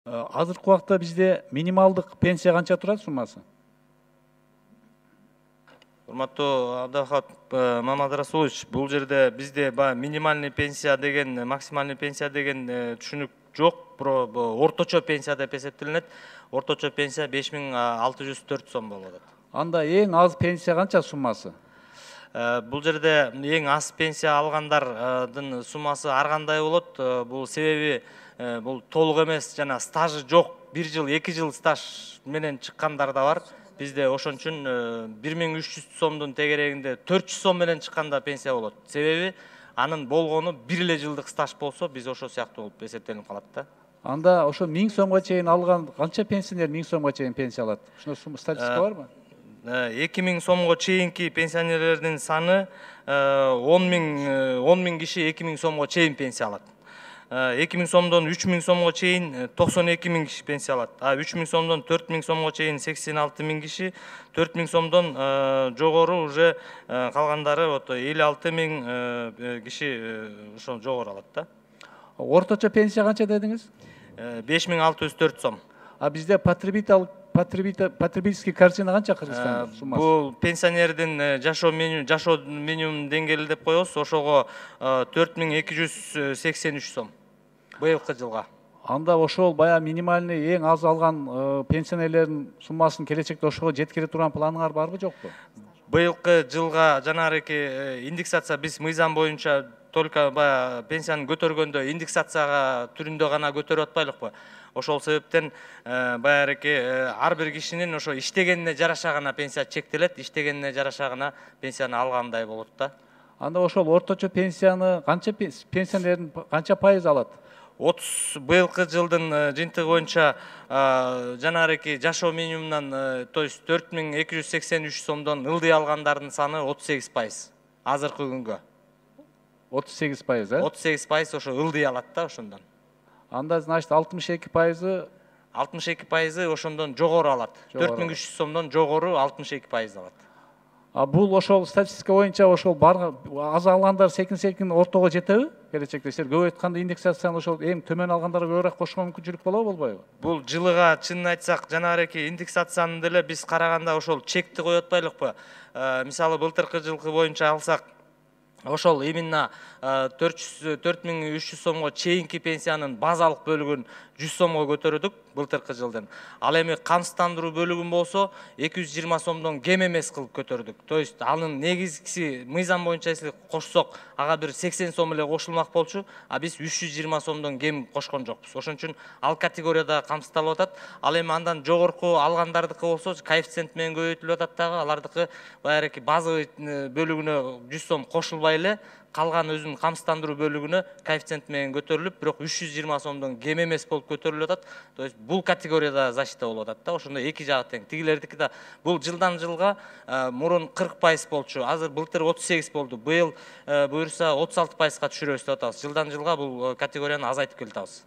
Азыркы убакта бизде минималдык пенсия канча турат суммасы? Урматтуу Абдыхат Мамадрасулович, бул жерде бизде баягы минимальный пенсия деген, максимальный пенсия деген түшүнүк жок. Орточо пенсия деп эсептелинет. Орточо пенсия 5604 сом болуп атат. Анда эң аз пенсия канча суммасы? Бул жерде эң аз пенсия алгандардын суммасы ар кандай болот. Бул себеби бул толук эмес, жана стажы жок, 1 жыл, 2 жыл стаж менен чыккандар да бар. Бизде ошон үчүн 1300 сомдун тегерегинде 400 сом менен чыкканда пенсия болот. Себеби анын болгону 1 эле жылдык стаж болсо, биз ошо сыяктуу болуп эсептелип калат да. Анда ошо 1000 сомго чейин алган канча пенсионер 1000 сомго чейин пенсия алат? Ушуна статистика барбы? 2000 сомго чейинки пенсионерлердин саны 10 000 киши 2000 сомго чейин пенсия алат. 2000 сомдон 3000 сомго чейин 92 000 киши пенсия алат. 3000 сомдон 4000 сомго чейин 86 000 киши, 4000 сомдон жогору уже калгандары 56 000 киши ошо жогору алат да. Орточо пенсия канча дедиңиз? 5604 сом. Бизде потребительский корзина канча Кыргызстанда суммасы? Бул пенсионердин жашоо минимум деңгээли деп коебуз. Ошого 4283 сом быйылкы жылга. Анда ошол баягы минимальный эң аз алган пенсионерлердин суммасын келечекте ошого жеткире турган планыңар барбы жокпу? Быйылкы жылга жанагы индексация биз мыйзам боюнча только баягы пенсияны көтөргөндө индексацияга түрүндө гана көтөрүп атпайлыкпы. Ошол себептен баягы ар бир кишинин ошо иштегенине жараша гана пенсия чектелет, иштегенине жараша гана пенсияны алгандай болот да. Анда ошол орточо пенсияны канча пенсионердин канча пайыз алат? Быйылкы жылдын жыйынтыгы боюнча жанагы жашоо минимумунан, то есть 4283 сомдон ылдый алгандардын саны 38%. Азыркы күнгө 38%, 38% ошо ылдый алат да ошондон. Анда значит 62% ошондон жогору алат. 4300 сомдон жогору 62% алат. Бул ошол статистика боюнча ошол аз алгандар секин ортого жетеби? Келечекте силер көп айтканда индексацияны ошол эң төмөн алгандарга көбүрөөк кошкон мүмкүнчүлүк болобу, болбойбу? Бул жылыга чынын айтсак, жанагы индексацияны деле биз караганда ошол чекти коюп атпайлыкпы? Мисалы былтыркы жылкы боюнча алсак, ошол именно 4300 сомго чейинки пенсиянын базалык бөлүгүн 100 сомго көтөрдүк былтыркы жылдан. Ал эми камсыздандыруу бөлүгүн болсо 220 сомдон кем эмес кылып көтөрдүк. То есть анын негизгиси мыйзам боюнча эсептеп кошсок, ага бир 80 сом эле кошулмак болчу, биз 320 сомдон кем кошкон жокпуз. Ошон үчүн ал категорияда камсыздалып атат. Ал эми андан жогорку алгандардыкы болсо коэффициент менен көбөйтүлүп атат дагы. Алардыкы баягы базовый бөлүгүнө 100 сом кошулбай эле калган өзүнүн камсыздандыруу бөлүгүнө коэффициент менен көтөрүлүп, бирок 320 сомдон кем эмес болуп көтөрүлүп атат. То есть бул категорияда защита болуп атат да. Ошондо эки жагы тең. Тигилердики да бул жылдан жылга мурун 40% болчу. Азыр былтыр 38 болду. Быйыл буюрса 36%га түшүрөбүз деп атабыз. Жылдан жылга бул категорияны азайтып келатабыз.